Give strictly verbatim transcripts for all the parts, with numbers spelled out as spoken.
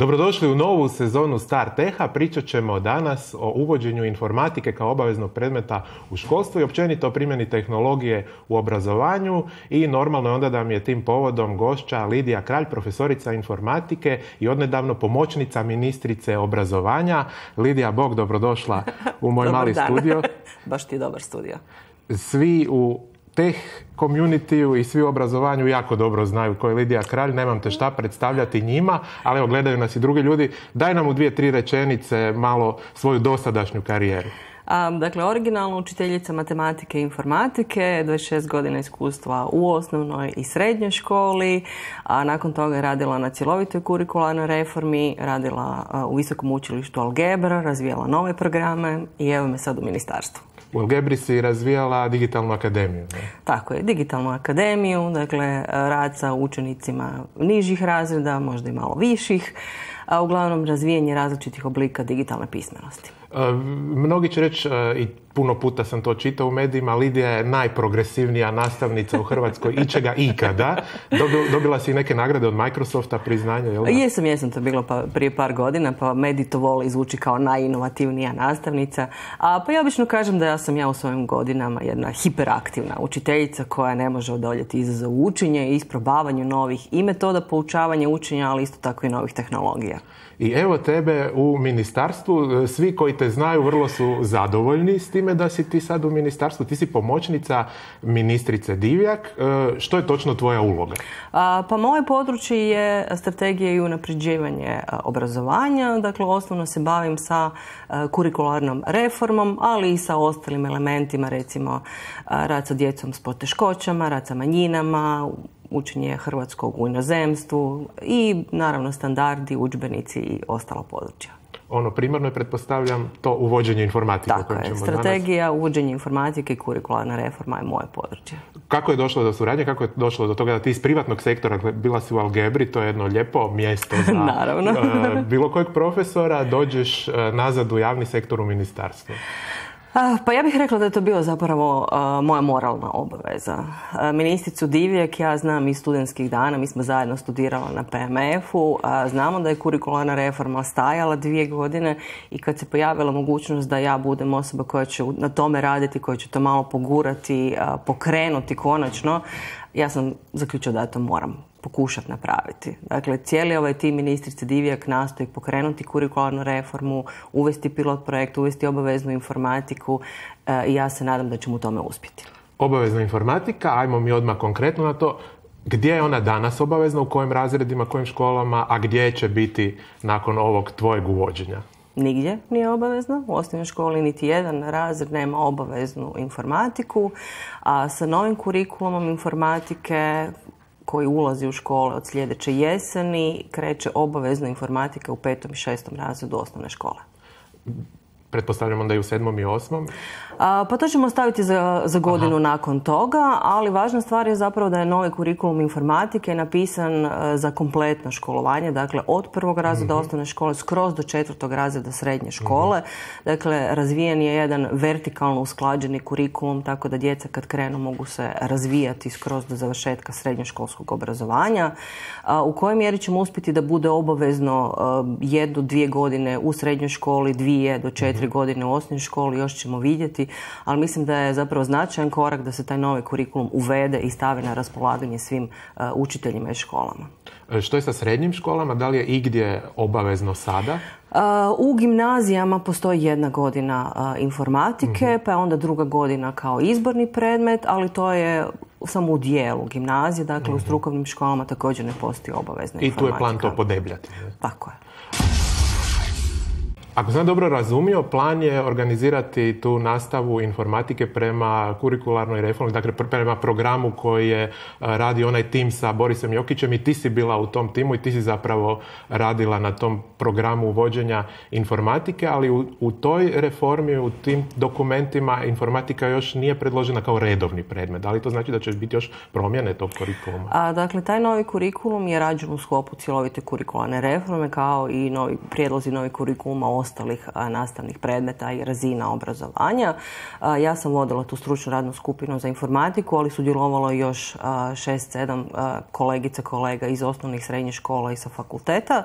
Dobrodošli u novu sezonu StarTeha. Pričat ćemo danas o uvođenju informatike kao obaveznog predmeta u školstvu i općenito o primjeni tehnologije u obrazovanju. I normalno je onda da mi je tim povodom gošća Lidija Kralj, profesorica informatike i odnedavno pomoćnica ministrice obrazovanja. Lidija, bog, dobrodošla u moj mali studio. Baš ti je dobar studio. Svi u teh community-u i svi u obrazovanju jako dobro znaju ko je Lidija Kralj, nemam te šta predstavljati njima, ali evo, gledaju nas i drugi ljudi. Daj nam u dvije, tri rečenice malo svoju dosadašnju karijeru. A, dakle, originalno učiteljica matematike i informatike, dvadeset šest godina iskustva u osnovnoj i srednjoj školi, a nakon toga je radila na cjelovitoj kurikularnoj reformi, radila a, u Visokom učilištu Algebra, razvijala nove programe i evo me sad u ministarstvu. U Algebri si razvijala digitalnu akademiju. Ne? Tako je, digitalnu akademiju, dakle rad sa učenicima nižih razreda, možda i malo viših, a uglavnom razvijanje različitih oblika digitalne pismenosti. E, mnogi će reći, e, i puno puta sam to čitao u medijima, Lidija je najprogresivnija nastavnica u Hrvatskoj ičega ikada. Dobila, dobila si neke nagrade od Microsofta, priznanja, jel da? Jesam, jesam, to je bilo pa, prije par godina, pa mediji to vole izvuči kao najinovativnija nastavnica. A pa ja obično kažem da ja sam ja u svojim godinama jedna hiperaktivna učiteljica koja ne može odoljeti izazovu učenja i isprobavanju novih i metoda poučavanja učenja, ali isto tako i novih tehnologija. I evo tebe u ministarstvu, svi koji te znaju vrlo su zadovoljni s time da si ti sad u ministarstvu. Ti si pomoćnica ministrice Divjak. Što je točno tvoja uloga? A, pa moje područje je strategija i unapređivanje obrazovanja. Dakle, osnovno se bavim sa kurikularnom reformom, ali i sa ostalim elementima, recimo rad sa djecom s poteškoćama, rad sa manjinama, učenje hrvatskog u inozemstvu i naravno standardi, udžbenici i ostalo područja. Ono primarno je, pretpostavljam, to uvođenje informatike. Tako je, strategija, danas... uvođenje informatike i kurikularna reforma je moje područje. Kako je došlo do suradnje, kako je došlo do toga da ti iz privatnog sektora, bila si u Algebri, to je jedno lijepo mjesto za naravno. uh, bilo kojeg profesora, dođeš uh, nazad u javni sektor u ministarstvo? Pa ja bih rekla da je to bio zapravo uh, moja moralna obaveza. Uh, ministricu Divjak ja znam iz studentskih dana, mi smo zajedno studirali na P M F-u, uh, znamo da je kurikularna reforma stajala dvije godine i kad se pojavila mogućnost da ja budem osoba koja će na tome raditi, koja će to malo pogurati, uh, pokrenuti konačno, ja sam zaključila da ja to moram pokušati napraviti. Dakle, cijeli ovaj tim ministrice Divjak nastoji pokrenuti kurikularnu reformu, uvesti pilot projekt, uvesti obaveznu informatiku e, i ja se nadam da ćemo u tome uspjeti. Obavezna informatika, ajmo mi odmah konkretno na to. Gdje je ona danas obavezna, u kojim razredima, kojim školama, a gdje će biti nakon ovog tvojeg uvođenja? Nigdje nije obavezno. U osnovnoj školi niti jedan razred nema obaveznu informatiku, a sa novim kurikulumom informatike koji ulazi u škole od sljedeće jeseni, kreće obavezna informatika u petom i šestom razredu osnovne škole. Pretpostavljamo da i u sedmom i osmom? A, pa to ćemo staviti za, za godinu Aha. nakon toga, ali važna stvar je zapravo da je novi kurikulum informatike napisan a, za kompletno školovanje, dakle od prvog razreda mm-hmm. osnovne škole skroz do četvrtog razreda srednje škole. Mm-hmm. Dakle, razvijen je jedan vertikalno usklađeni kurikulum, tako da djeca kad krenu mogu se razvijati skroz do završetka srednjoškolskog obrazovanja. A, u kojoj mjeri ćemo uspjeti da bude obavezno a, jednu, dvije godine u srednjoj školi, dvije do četiri mm-hmm. godine u osnovnoj školi, još ćemo vidjeti, ali mislim da je zapravo značajan korak da se taj novi kurikulum uvede i stavi na raspolaganje svim uh, učiteljima i školama. Što je sa srednjim školama? Da li je igdje obavezno sada? Uh, u gimnazijama postoji jedna godina uh, informatike, mm-hmm. pa je onda druga godina kao izborni predmet, ali to je samo u dijelu gimnazije, dakle mm-hmm. u strukovnim školama također ne postoji obavezna I informatika. I tu je plan to podebljati. Ne? Tako je. Ako sam dobro razumio, plan je organizirati tu nastavu informatike prema kurikularnoj reformi, dakle prema programu koji je radi onaj tim sa Borisom Jokićem i ti si bila u tom timu i ti si zapravo radila na tom programu uvođenja informatike, ali u, u toj reformi, u tim dokumentima informatika još nije predložena kao redovni predmet. Da li to znači da će biti još promjene tog kurikuluma? A, dakle, taj novi kurikulum je rađen u sklopu cjelovite kurikularne reforme kao i novi prijedlozi novih kurikuluma ostalih a, nastavnih predmeta i razina obrazovanja. A, ja sam vodila tu stručnu radnu skupinu za informatiku, ali sudjelovalo još šest sedam kolegica, kolega iz osnovnih srednjih škola i sa fakulteta.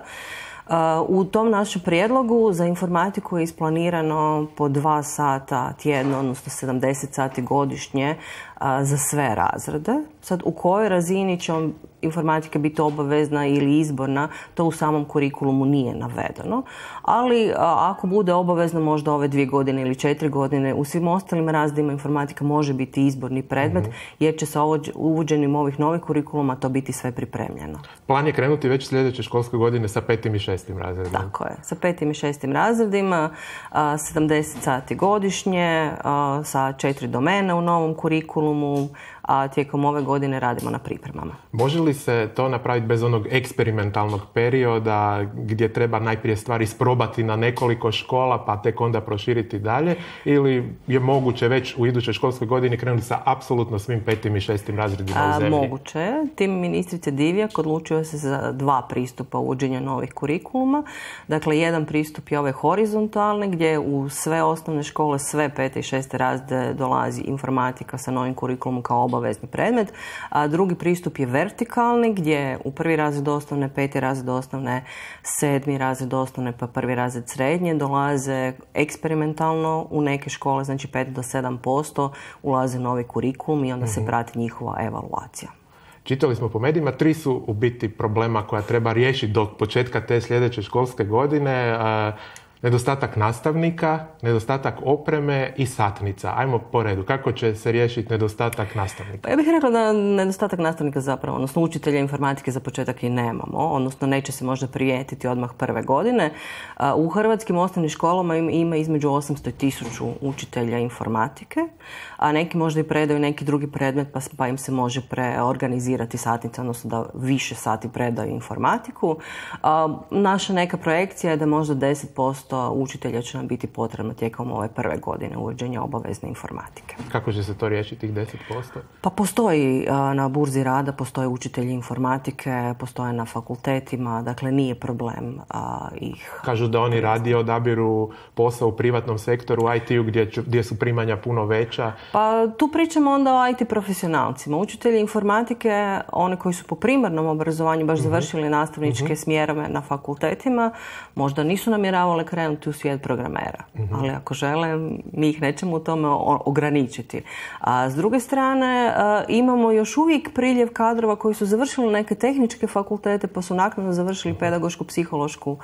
U tom našem prijedlogu za informatiku je isplanirano po dva sata tjedno, odnosno sedamdeset sati godišnje za sve razrede. Sad, u kojoj razini će informatika biti obavezna ili izborna, to u samom kurikulumu nije navedeno. Ali ako bude obavezno možda ove dvije godine ili četiri godine, u svim ostalim razredima informatika može biti izborni predmet, mm-hmm. jer će sa uvođenjem ovih novih kurikuluma to biti sve pripremljeno. Plan je krenuti već sljedeće školske godine sa petim i šestim razredima. Tako je, sa petim i šestim razredima, sedamdeset sati godišnje, sa četiri domene u novom kurikulumu, a tijekom ove godine radimo na pripremama. Može li se to napraviti bez onog eksperimentalnog perioda gdje treba najprije stvari isprobati na nekoliko škola pa tek onda proširiti dalje, ili je moguće već u idućoj školskoj godini krenuti sa apsolutno svim petim i šestim razredima u zemlji? Moguće je. Tim ministrice Divjak odlučio se za dva pristupa uvođenja novih kurikuluma. Dakle, jedan pristup je ovaj horizontalni gdje u sve osnovne škole, sve pete i šeste razrede dolazi informatika sa novim kurikulumom kao obavezni predmet. A drugi pristup je vertikalni gdje u prvi razred osnovne, peti razred osnovne, sedmi razred osnovne pa prvi razred srednje dolaze eksperimentalno u neke škole, znači pet do sedam posto ulaze novi kurikulum i onda mm-hmm. se prati njihova evaluacija. Čitali smo po medijima, tri su u biti problema koja treba riješiti do početka te sljedeće školske godine. Nedostatak nastavnika, nedostatak opreme i satnica. Ajmo po redu. Kako će se riješiti nedostatak nastavnika? Pa ja bih rekla da nedostatak nastavnika zapravo, odnosno učitelja informatike za početak i nemamo, odnosno neće se možda prijetiti odmah prve godine. U hrvatskim osnovnim školama ima između osamsto i tisuću učitelja informatike, a neki možda i predaju neki drugi predmet pa, pa im se može preorganizirati satnica, odnosno da više sati predaju informatiku. Naša neka projekcija je da možda deset posto učitelja će nam biti potrebno tijekom ove prve godine uvođenja obavezne informatike. Kako će se to riješiti, tih deset posto? Pa postoji na burzi rada, postoje učitelji informatike, postoje na fakultetima, dakle nije problem a, ih... Kažu da oni radije odabiru posao u privatnom sektoru, u I T-u gdje, gdje su primanja puno veća. Pa tu pričamo onda o I T profesionalcima. Učitelji informatike, oni koji su po primarnom obrazovanju baš mm-hmm. završili nastavničke mm-hmm. smjerove na fakultetima, možda nisu namjeravali krenuti u svijet programera. Mm-hmm. Ali ako žele, mi ih nećemo u tome ograničiti. A s druge strane, imamo još uvijek priljev kadrova koji su završili neke tehničke fakultete pa su naknadno završili pedagoško-psihološku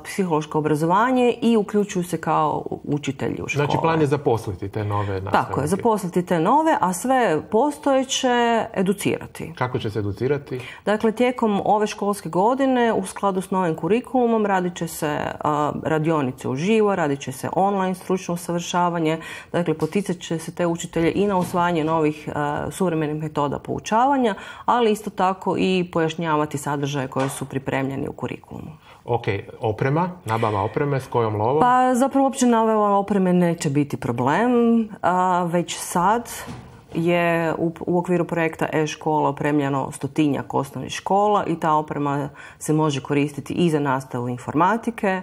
psihološko obrazovanje i uključuju se kao učitelji u škole. Znači plan je zaposliti te nove nastavnike. Tako je, zaposliti te nove, a sve postojeće educirati. Kako će se educirati? Dakle, tijekom ove školske godine u skladu s novim kurikulumom radit će se radionice uživo, radit će se online stručno usavršavanje, dakle poticat će se te učitelje i na usvajanje novih uh, suvremenih metoda poučavanja, ali isto tako i pojašnjavati sadržaje koje su pripremljeni u kurikulumu. Ok, oprema, nabava opreme, s kojom lovom? Pa zapravo uopće nabava opreme neće biti problem, a, već sad je u, u okviru projekta e-škola opremljeno stotinjak osnovnih škola i ta oprema se može koristiti i za nastavu informatike.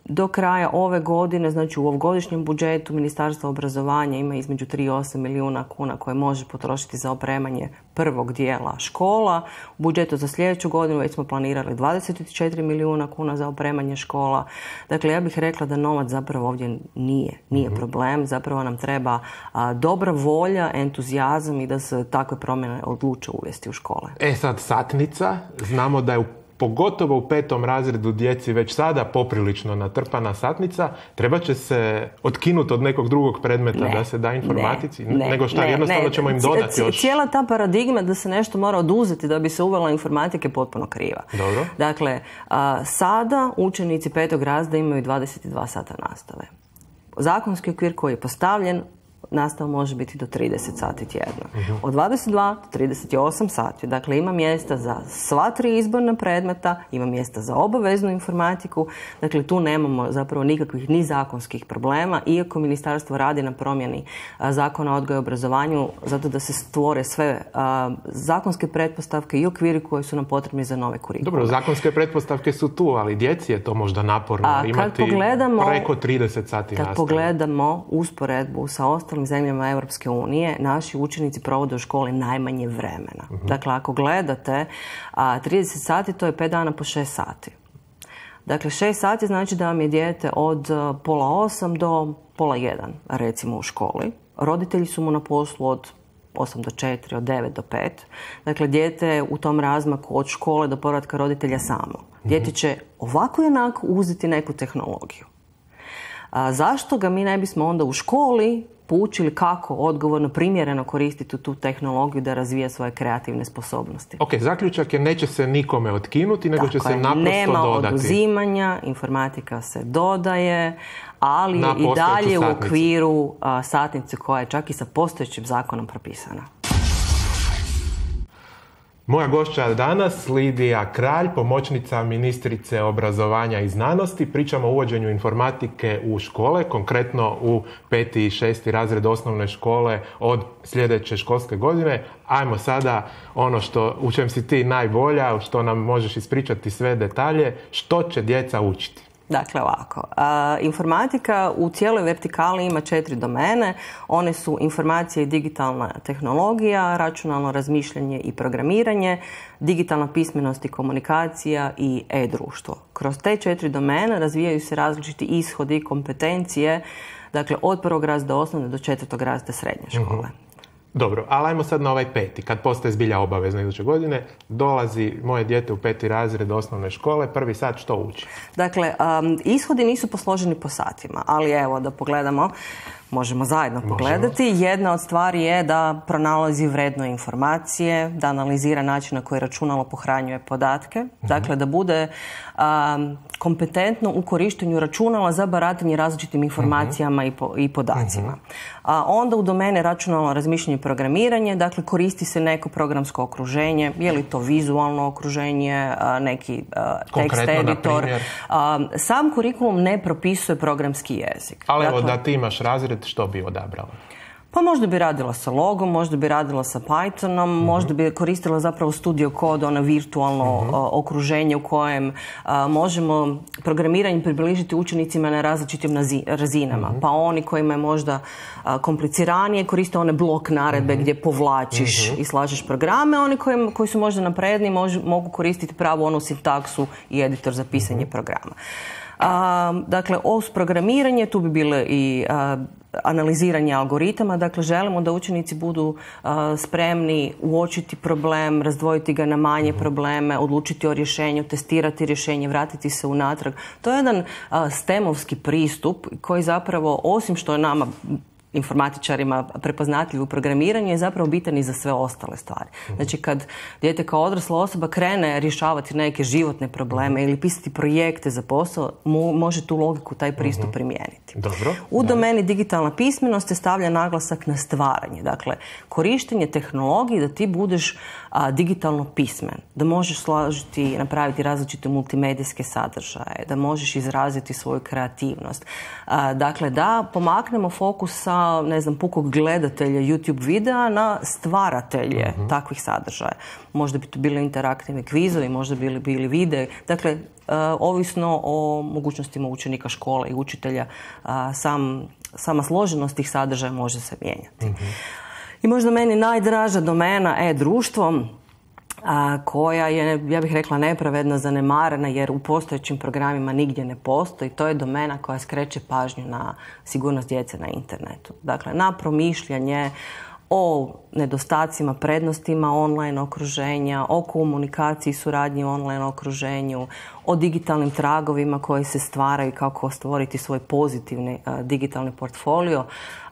Do kraja ove godine, znači u ovogodišnjem budžetu Ministarstva obrazovanja ima između tri i osam milijuna kuna koje može potrošiti za opremanje prvog dijela škola. U budžetu za sljedeću godinu već smo planirali dvadeset četiri milijuna kuna za opremanje škola. Dakle, ja bih rekla da novac zapravo ovdje nije, nije problem. Zapravo nam treba a, dobra volja, entuzijazam i da se takve promjene odluče uvesti u škole. E sad, satnica. Znamo da je u pogotovo u petom razredu djeci već sada poprilično natrpana satnica, treba će se otkinuti od nekog drugog predmeta ne, da se da informatici? Ne, ne, nego šta, ne, jednostavno ne. ćemo im dodati još? Cijela ta paradigma da se nešto mora oduzeti da bi se uvela informatike je potpuno kriva. Dobro. Dakle, a, sada učenici petog razreda imaju dvadeset dva sata nastave. Zakonski okvir koji je postavljen, nastava može biti do trideset sati tjedno. Uh-huh. Od dvadeset dva do trideset osam sati. Dakle, ima mjesta za sva tri izborna predmeta, ima mjesta za obaveznu informatiku. Dakle, tu nemamo zapravo nikakvih ni zakonskih problema, iako ministarstvo radi na promjeni a, zakona o odgoju i obrazovanju, zato da se stvore sve a, zakonske pretpostavke i okviri koji su nam potrebni za nove kurikulume. Dobro, zakonske pretpostavke su tu, ali djeci je to možda naporno a, imati preko trideset sati kad nastave. Kad pogledamo usporedbu sa ostalim zemljama Europske unije, naši učenici provode u školi najmanje vremena. Uh-huh. Dakle, ako gledate, a, trideset sati to je pet dana po šest sati. Dakle, šest sati znači da vam je dijete od pola osam do pola jedan, recimo u školi. Roditelji su mu na poslu od osam do četiri, od devet do pet. Dakle, dijete je u tom razmaku od škole do povratka roditelja samo. Dijete će ovako i onako uzeti neku tehnologiju. A zašto ga mi ne bismo onda u školi poučili kako odgovorno, primjereno koristiti tu tehnologiju da razvija svoje kreativne sposobnosti? Ok, zaključak je neće se nikome otkinuti, nego će se naprosto dodati. Nema oduzimanja, informatika se dodaje, ali i dalje u okviru a, satnice koja je čak i sa postojećim zakonom propisana. Moja gošća danas, Lidija Kralj, pomoćnica ministrice obrazovanja i znanosti. Pričamo o uvođenju informatike u škole, konkretno u peti i šesti razred osnovne škole od sljedeće školske godine. Ajmo sada ono što, u čem si ti najbolja, što nam možeš ispričati sve detalje, što će djeca učiti. Dakle, ovako. A, informatika u cijeloj vertikali ima četiri domene. One su informacija i digitalna tehnologija, računalno razmišljanje i programiranje, digitalna pismenost i komunikacija i e-društvo. Kroz te četiri domene razvijaju se različiti ishodi i kompetencije, dakle od prvog razreda osnovne do četvrtog razreda srednje škole. Mm-hmm. Dobro, ali ajmo sad na ovaj peti. Kad postaje zbilja obavezno iduće godine, dolazi moje dijete u peti razred osnovne škole, prvi sat što uči? Dakle, um, ishodi nisu posloženi po satima, ali evo da pogledamo, možemo zajedno pogledati. Možemo. Jedna od stvari je da pronalazi vredno informacije, da analizira način na koji računalo pohranjuje podatke, mm-hmm. dakle da bude um, kompetentno u korištenju računala za baratanje različitim informacijama mm-hmm. i, po, i podacima. Mm-hmm. A onda u domene računalno razmišljanje i programiranje, dakle koristi se neko programsko okruženje, je li to vizualno okruženje, neki tekst editor. Sam kurikulum ne propisuje programski jezik. Ali dakle, evo da ti imaš razred, što bi odabrala? Pa možda bi radila sa Logom, možda bi radila sa Pythonom, mm-hmm. možda bi koristila zapravo Studio Code, ono virtualno mm-hmm. okruženje u kojem a, možemo programiranje približiti učenicima na različitim nazi, razinama. Mm-hmm. Pa oni kojima je možda a, kompliciranije koriste one blok naredbe mm-hmm. gdje povlačiš mm-hmm. i slažeš programe, oni koji, koji su možda napredni mož, mogu koristiti pravu onu sintaksu i editor za pisanje mm-hmm. programa. A, dakle, uz programiranje tu bi bile i a, analiziranje algoritama. Dakle, želimo da učenici budu a, spremni uočiti problem, razdvojiti ga na manje mm-hmm. probleme, odlučiti o rješenju, testirati rješenje, vratiti se unatrag. To je jedan a, stemovski pristup koji zapravo, osim što je nama informatičarima prepoznatljiv u programiranju, je zapravo bitan i za sve ostale stvari. Znači, kad dijete kao odrasla osoba krene rješavati neke životne probleme ili pisati projekte za posao, može tu logiku, taj pristup primijeniti. Dobro. U domeni digitalna pismenost se stavlja naglasak na stvaranje. Dakle, korištenje tehnologije da ti budeš a, digitalno pismen, da možeš složiti i napraviti različite multimedijske sadržaje, da možeš izraziti svoju kreativnost. A, dakle, da pomaknemo fokus sa ne znam, pukog gledatelja YouTube videa na stvaratelje uh-huh. takvih sadržaja. Možda bi to bili interaktivni kvizovi, možda bi bili, bili videi. Dakle, uh, ovisno o mogućnostima učenika škole i učitelja, uh, sam, sama složenost tih sadržaja može se mijenjati. Uh-huh. I možda meni najdraža domena e-društvo, a, koja je, ja bih rekla, nepravedno zanemarena jer u postojećim programima nigdje ne postoji. To je domena koja skreće pažnju na sigurnost djece na internetu. Dakle, na promišljanje o nedostacima, prednostima online okruženja, o komunikaciji i suradnji u online okruženju, o digitalnim tragovima koji se stvaraju, kako stvoriti svoj pozitivni a, digitalni portfolio,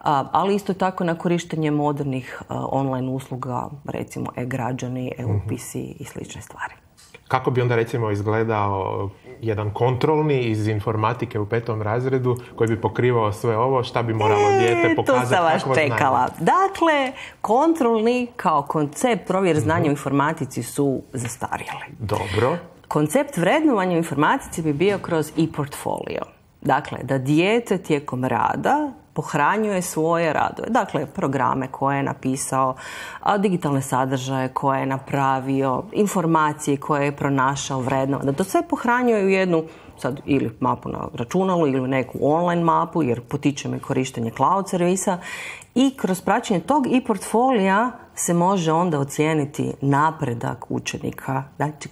a, ali isto tako na korištenje modernih a, online usluga, recimo e-građani, e-upisi mm-hmm. i slične stvari. Kako bi onda recimo izgledao jedan kontrolni iz informatike u petom razredu koji bi pokrivao sve ovo, šta bi moralo e, dijete pokazati? Tu sam vas čekala. Dakle, kontrolni kao koncept provjere znanja mm-hmm. u informatici su zastarjeli. Dobro. Koncept vrednovanja u informatici bi bio kroz e-portfolio. Dakle, da dijete tijekom rada pohranjuje svoje radove. Dakle, programe koje je napisao, digitalne sadržaje koje je napravio, informacije koje je pronašao, vrednovao. Da to sve pohranjuje u jednu sad ili mapu na računalu ili neku online mapu, jer potičemo i korištenje cloud servisa. I kroz praćenje tog e-portfolija se može onda ocijeniti napredak učenika,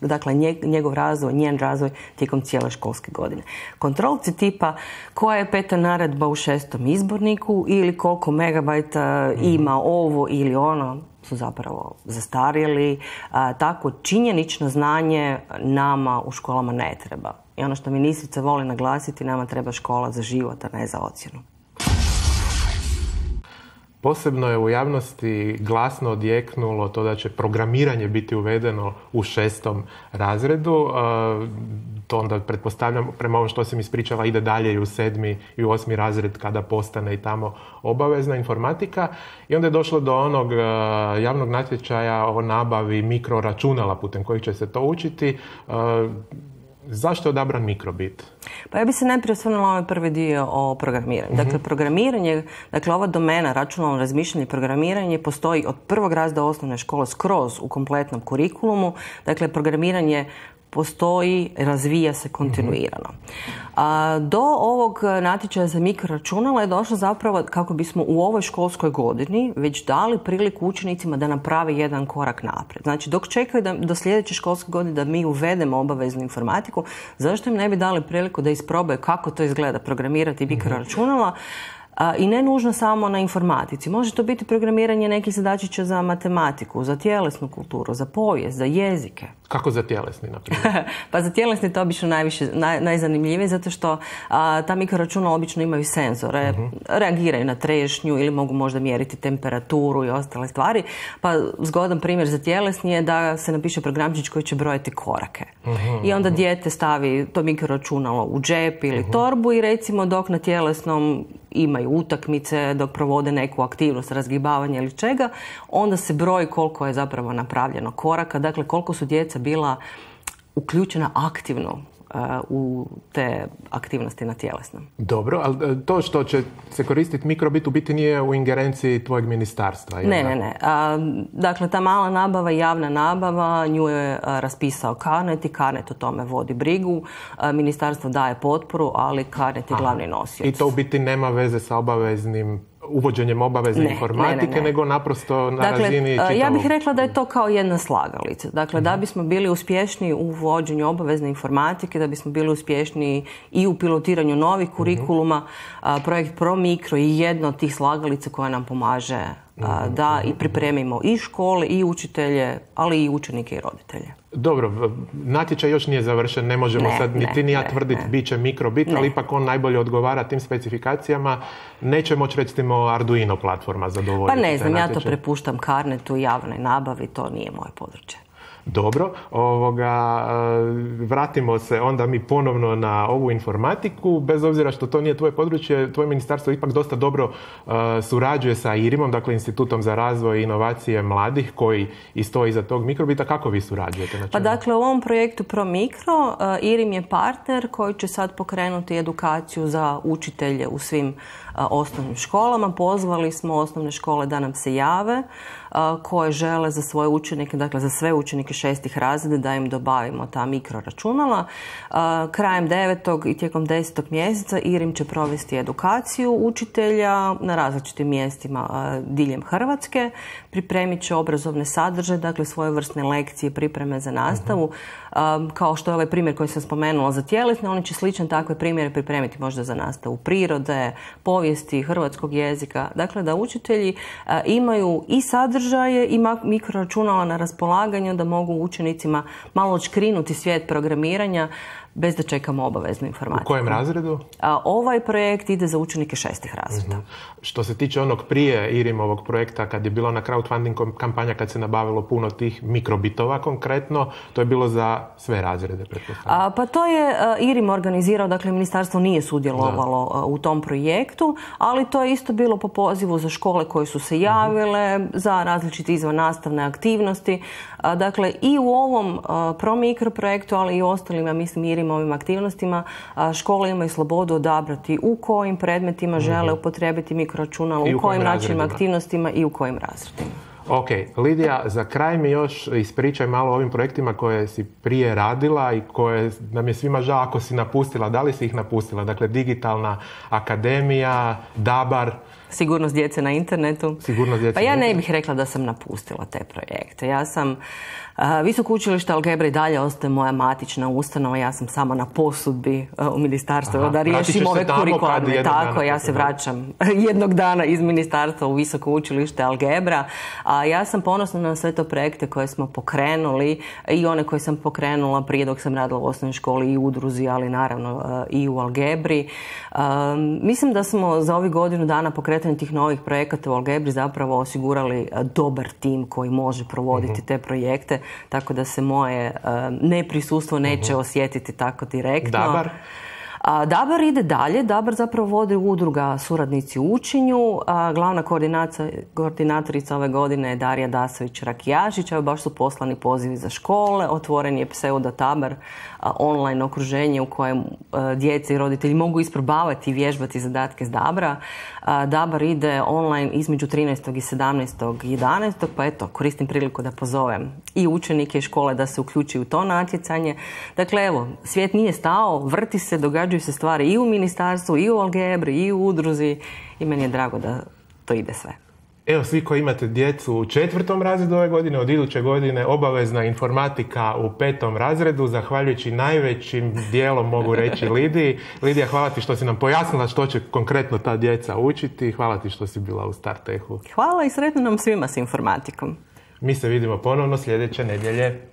dakle njegov razvoj, njen razvoj tijekom cijele školske godine. Kontrolci tipa koja je peta naredba u šestom izborniku ili koliko megabajta ima ovo ili ono su zapravo zastarjeli. Tako činjenično znanje nama u školama ne treba. I ono što ministrica voli naglasiti, nama treba škola za život, a ne za ocjenu. Posebno je u javnosti glasno odjeknulo to da će programiranje biti uvedeno u šestom razredu. To onda, pretpostavljam, prema ovom što sam ispričala, ide dalje i u sedmi i u osmi razred kada postane i tamo obavezna informatika. I onda je došlo do onog javnog natječaja o nabavi mikroračunala putem kojih će se to učiti. Zašto je odabran mikrobit? Pa ja bih se najprije osvrnula ovaj prvi dio o programiranju. Dakle, programiranje, dakle, ova domena, računalno razmišljanje i programiranje postoji od prvog razreda osnovne škole skroz u kompletnom kurikulumu. Dakle, programiranje postoji, razvija se kontinuirano. A, do ovog natječaja za mikroračunala je došlo zapravo kako bismo u ovoj školskoj godini već dali priliku učenicima da naprave jedan korak naprijed. Znači, dok čekaju da, do sljedeće školske godine da mi uvedemo obaveznu informatiku, zašto im ne bi dali priliku da isprobaju kako to izgleda programirati mikroračunala? I ne nužno samo na informatici. Može to biti programiranje nekih zadačića za matematiku, za tjelesnu kulturu, za povijest, za jezike. Kako za tjelesni, na primjer? Pa za tjelesni to obično najviše, naj, najzanimljivije, zato što a, ta mikroračunala obično imaju senzore, uh-huh. reagiraju na trešnju ili mogu možda mjeriti temperaturu i ostale stvari. Pa zgodan primjer za tjelesni je da se napiše programčić koji će brojati korake. Uh-huh. I onda dijete stavi to mikroračunalo u džep ili uh-huh. torbu i recimo dok na tjelesnom imaju utakmice, dok provode neku aktivnost, razgibavanja ili čega, onda se broji koliko je zapravo napravljeno koraka, dakle koliko su djeca bila uključena aktivno uh, u te aktivnosti na tjelesnom. Dobro, ali to što će se koristiti mikrobit u biti nije u ingerenciji tvojeg ministarstva? Ne, ne, ne. A, dakle, ta mala nabava i javna nabava, nju je a, raspisao Carnet i Carnet o tome vodi brigu. A, ministarstvo daje potporu, ali Carnet je glavni nosioc. I to u biti nema veze sa obaveznim uvođenjem obavezne ne, informatike, ne, ne, ne. nego naprosto na dakle, razini čitavog... Ja bih rekla da je to kao jedna slagalica. Dakle, mm-hmm. da bismo bili uspješni u uvođenju obavezne informatike, da bismo bili uspješni i u pilotiranju novih kurikuluma, mm-hmm. projekt ProMikro je jedna od tih slagalica koja nam pomaže mm-hmm. da i pripremimo i škole, i učitelje, ali i učenike i roditelje. Dobro, natječaj još nije završen, ne možemo ne, sad niti ni ja tvrditi bit će mikrobit, ali ipak on najbolje odgovara tim specifikacijama. Neće moći recimo Arduino platforma zadovoljiti. Pa ne znam, ja to prepuštam Carnetu, javnoj nabavi, to nije moje područje. Dobro, ovoga, vratimo se onda mi ponovno na ovu informatiku, bez obzira što to nije tvoje područje, tvoje ministarstvo ipak dosta dobro uh, surađuje sa I R I M-om, dakle Institutom za razvoj i inovacije mladih, koji i stoji iza tog mikrobita. Kako vi surađujete? Pa dakle, u ovom projektu ProMikro uh, I R I M je partner koji će sad pokrenuti edukaciju za učitelje u svim uh, osnovnim školama. Pozvali smo osnovne škole da nam se jave, uh, koje žele za svoje učenike, dakle za sve učenike šestih razreda da im dobavimo ta mikroračunala. Krajem devetog i tijekom desetog mjeseca I R I M će provesti edukaciju učitelja na različitim mjestima diljem Hrvatske. Pripremit će obrazovne sadržaje, dakle svojevrsne lekcije, pripreme za nastavu. Uh-huh. Kao što je ovaj primjer koji sam spomenula za tjelesne, oni će slične takve primjere pripremiti možda za nastavu prirode, povijesti, hrvatskog jezika. Dakle, da učitelji imaju i sadržaje i mikroračunala na raspolaganju, da mogu učenicima malo odškrinuti svijet programiranja bez da čekamo obaveznu informatiku. U kojem razredu? A, ovaj projekt ide za učenike šestih razreda. Uh-huh. Što se tiče onog prije I R I M-ovog projekta, kad je bila na crowdfunding kampanja, kad se nabavilo puno tih mikrobitova konkretno, to je bilo za sve razrede, pretpostavljam. Pa to je uh, I R I M organizirao, dakle ministarstvo nije sudjelovalo uh, u tom projektu, ali to je isto bilo po pozivu za škole koje su se javile, uh-huh. za različite izvannastavne aktivnosti. Uh, dakle, i u ovom uh, ProMikro projektu, ali i u ostalim, ja mislim, I R I M ovim aktivnostima, škole imaju slobodu odabrati u kojim predmetima žele upotrijebiti mikroračunala, u kojim načinima aktivnostima i u kojim razredima. Ok, Lidija, za kraj mi još ispričaj malo o ovim projektima koje si prije radila i koje nam je svima žao ako si napustila. Da li si ih napustila? Dakle, Digitalna akademija, Dabar. Sigurnost djece na internetu. Sigurnost djece pa ja ne bih rekla da sam napustila te projekte. Ja sam, uh, Visoko učilište Algebra i dalje ostaje moja matična ustanova. Ja sam samo na posudbi uh, u ministarstvu. Aha, da riješim ove kurikularne. Tako, ja se vraćam jednog dana iz ministarstva u Visoko učilište Algebra. A ja sam ponosna na sve to projekte koje smo pokrenuli i one koje sam pokrenula prije dok sam radila u osnovnoj školi i u udruzi, ali naravno uh, i u Algebri. Um, mislim da smo za ovih godinu dana pokretali tih novih projekata u Algebri zapravo osigurali dobar tim koji može provoditi uh-huh. te projekte, tako da se moje uh, neprisustvo neće uh-huh. osjetiti tako direktno. Dabar? A Dabar ide dalje. Dabar zapravo vodi udruga Suradnici u učenju. A glavna koordinatorica ove godine je Darija Dasović-Rakijašić. Evo baš su poslani pozivi za škole. Otvoren je pseudo Dabar online okruženje u kojem djece i roditelji mogu isprobavati i vježbati zadatke s Dabra. Dabar ide online između trinaestog i sedamnaestog jedanaestog pa eto, koristim priliku da pozovem i učenike i škole da se uključi u to natjecanje. Dakle, evo, svijet nije stao, vrti se, događaju se stvari i u ministarstvu, i u Algebri, i u udruzi i meni je drago da to ide sve. Evo, svi koji imate djecu u četvrtom razredu ove godine, od iduće godine obavezna informatika u petom razredu, zahvaljujući najvećim dijelom, mogu reći, Lidiji. Lidija, hvala ti što si nam pojasnila što će konkretno ta djeca učiti. Hvala ti što si bila u Startechu. Hvala i sretno nam svima s informatikom. Mi se vidimo ponovno sljedeće nedjelje.